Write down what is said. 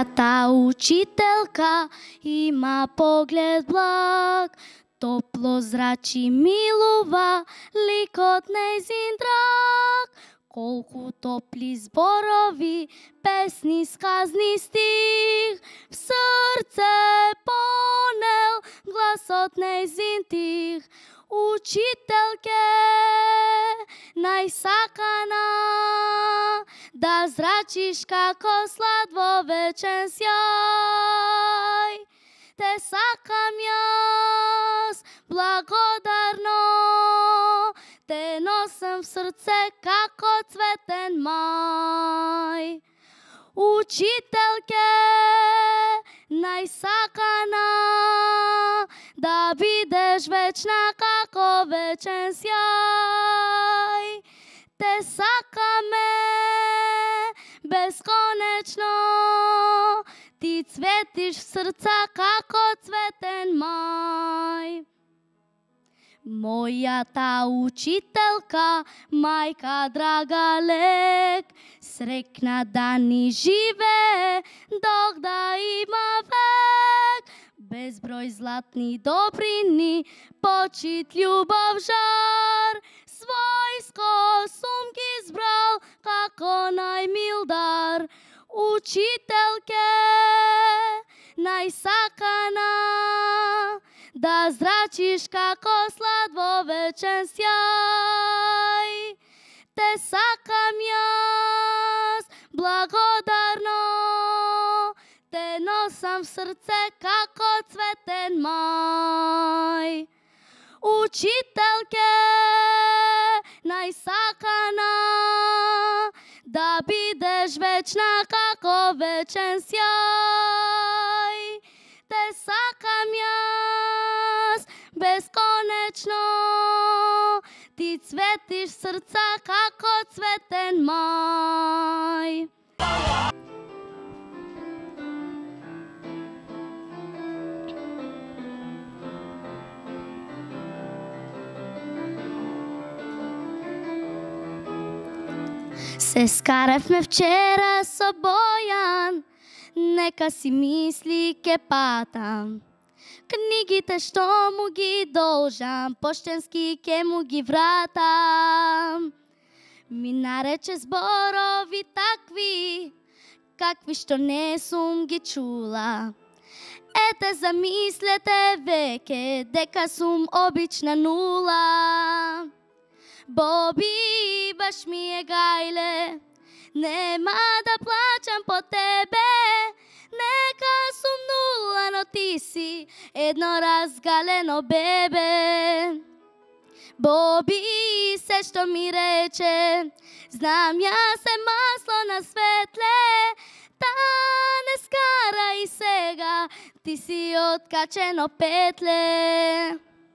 Мојата учителка има поглед благ, топло зрачи милува ликот нејзин драг. Колку топли зборови, песни, сказни стих, в срце понел гласот нејзин тих. Учителке најсакана, да зрачиш како слад во вечен сјај. Те сакам јас благодарно, те носам в срце како цветен мај. Учителке најсакана, да бидеш вечна како вечен сјај. Те сакаме бесконечно, ти цветиш в срца како цветен мај. Мојата учителка, мајка драга лек, срекна да ни живее, док да има век. Безброј златни добрини, почит, љубов, жар, својско сум ги збрал како најмил дар. Учителке најсакана, да зрачиш како слад во вечен сјај. Те сакам јас благодарно, те носам в срце како цветен мај. Учителке најсакана, да бидеш вечна како вечен сјај. Те сакам јас бесконечно, ти цветиш в срца како цветен мај. Се скаревме вчера со Бојан, нека си мисли ке патам. Книгите што му ги должам, поштенски ке му ги вратам. Ми нарече зборови такви, какви што не сум ги чула. Ете замислете веќе дека сум обична нула. Боби, баш ми е гајле, нема да плачам по тебе. Нека сум нула, но ти си едно разгалено бебе. Боби, се што ми рече, знам јас е масло на светле. Та не скара и сега, ти си откачено петле.